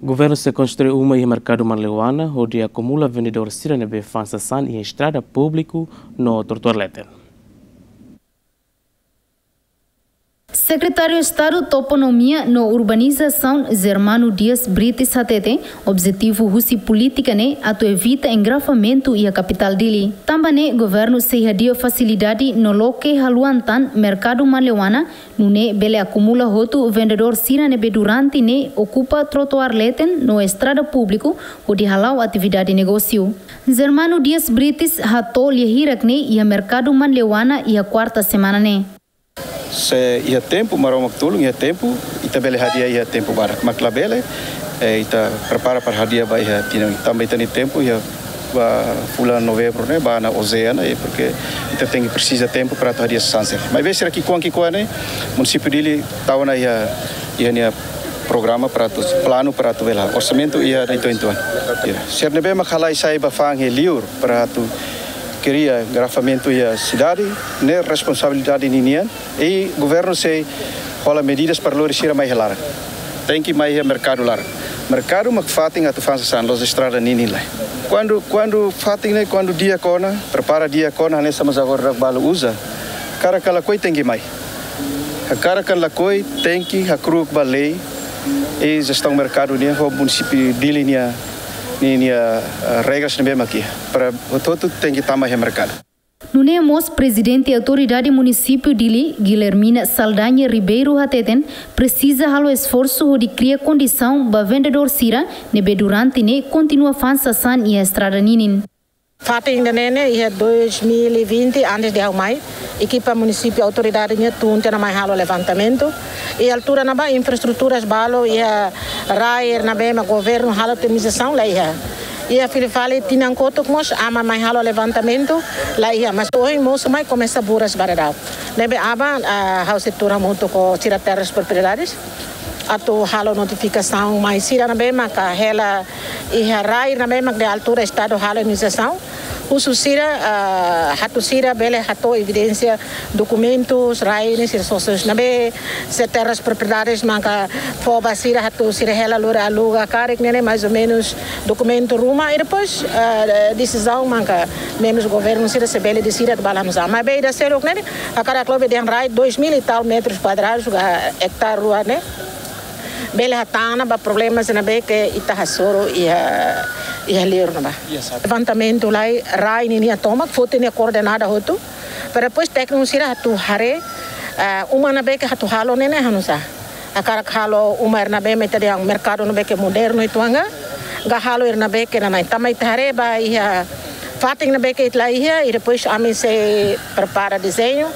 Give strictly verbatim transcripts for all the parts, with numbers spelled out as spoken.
Governu sei konstrui uma iha merkadu Manleuana, hodi akumula vendedór sira ne'ebé fa'an sasán iha estrada públiku no trotuár leten. Sekretáriu Estadu Toponímia no Urbanizasaun, Germano Dias Brites hateten, objetivu husi polítika ne'e atu evita engarrafamentu iha kapitál Dili. Tanba ne'e, governu sei hadi'a fasilidade no loke haluan tan merkadu Manleuana, nune'e bele akumula hotu vendedór sira ne'ebé durante ne'e okupa trotuár leten no estrada públiku, hodi hala'o atividade negósiu. Germano Dias Brites hato'o lia hirak ne'e iha merkadu Manleuana iha kuarta semana ne'e. Se iha tempu, Maromak tulun, iha tempu, ita bele hadi'a iha tempu badak. Mak labele, eh, ita prepara para hadi'a ba iha tinan. Tanba ita-nia tempu iha ba fulan Novembru ne'e, ba ona ozeana, eh, porke ita tenke presiza tempu para atu hadi'a sasán sira. Maibé sira ki'ikoan ki'ikoan ne'e, munisípiu Dili tau ona iha, iha nia programa para atu, planu para atu bele, orsamentu iha uitoan-uitoan. Ya. Sira ne'ebé mak halai sai ba fa'an iha liur para atu kria engarrafamentu iha sidade, ne'e responsabilidade ninian, i governu sei hola medidas para lori sira mai iha laran. Tenke mai iha merkadu laran. Merkadu mak fatin atu fa'an sasán, la'ós estrada ninin lai. Kuandu, kuandu fatin ne'e, kuandu di'ak ona, prepara di'ak ona, hanesan mós agora balu uza. Hakarak ka lakohi tenke mai. Hakarak ka lakohi tenke hakru'uk ba lei, i jestaun merkadu nian ho munisípiu Dili nia, nia, nia, eh, regras ne'ebé mak iha. Para hotu-hotu tenke tama iha merkadu. Nune'e mós Prezidente Autoridade Munisípiu Dili, Guilhermina Saldanha Ribeiro hateten, presiza halo esforsu hodi kria kondisaun ba vendedór sira ne'ebé durante ne'e kontinua fa'an sasán iha estrada ninin. Fatin ida-ne'e ne'e iha dois mil e vinte, antes de ha'u mai, ekipa munisípiu autoridade nian tun tiha ona mai halo levantamentu. Iha altura ne'ebá infraestruturas balu, iha rai ne'ebé mak governu halo indemnizasaun la iha. Iha fila fali tinan kotuk mós ami mai halo levantamentu la iha, mas ohin mosu mai komesa buras ba daudaun. Ne'ebé aban, ah, ha'u sei tuur hamutuk ho sira Terras Propriedades atu halo notifikasaun mai sira ne'ebé maka hela iha rai ne'ebé mak iha altura Estadu halo indemnizasaun. Husu sira, ah, atu sira bele hato'o evidénsia, dokumentus, rai ne'e sira sosa ne'ebé, se Terras Propriedades maka fó ba sira atu sira hela lori aluga karik ne'e, mais ou menus dokumentu ruma, i depois, ah, desizaun maka membru governu sira se bele deside atu bá la nusa. Maibé ida seluk ne'e, hakarak lobe dehan rai dois mil e tal metros quadrados, ka ektare rua ne'e. Bele hatán ona ba problema sira ne'ebé ke ita hasoru iha, iha liur ne'ebá. Levantamentu lai rai ninia tomak, foti nia koordenada hotu. Para depois tékniku sira atu haree, ah, uma ne'ebé ke atu halo ne'e, ne'e halo nusa. Hakarak halo uma ida ne'ebé mak ita dehan merkadu ne'ebé ke modernu uitoan ka, ka halo ida ne'ebé ke nanain. Tanba ita haree ba iha fatin ne'ebé ke ita la iha, i depois ami sei prepara dezeñu,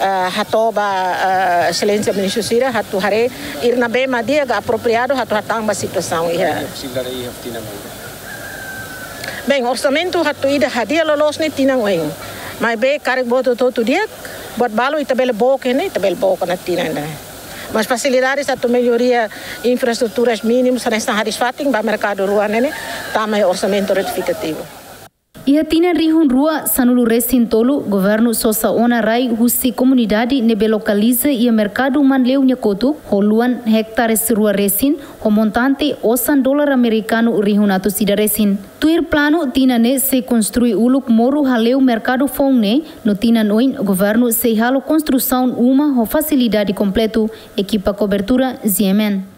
ah, hato'o ba, ah, Exelénsia Ministru sira, atu haree ida ne'ebé mak di'ak ka apropriadu atu hatán ba situasaun iha. Bem, orsamentu atu ida hadi'a loloos ne'e tinan oin. Maibé karik buat hotu-hotu di'ak, buat balu ita bele book ne'e, ita bele book ona tinan ida-ne'e. Mas fasilidades atu melloria infraestruturas mínimas, hanesan hadi'a fatin ba merkadu rua ne'e, ne'e tama iha orsamentu retifikativu. Iha tinan rihun rua sanulu resin tolu, governu sosa ona rai husi komunidade ne'ebé lokaliza iha merkadu Manleu nia kotuk, ho luan ektares rua resin, ho montante osan dolar amerikanu rihun atus ida resin. Tuir planu, tinan ne'e sei konstrui uluk moru haleu merkadu foun ne'e, no tinan oin governu sei halo konstrusaun uma ho fasilidade kompletu. Ekipa kobertura, G M N.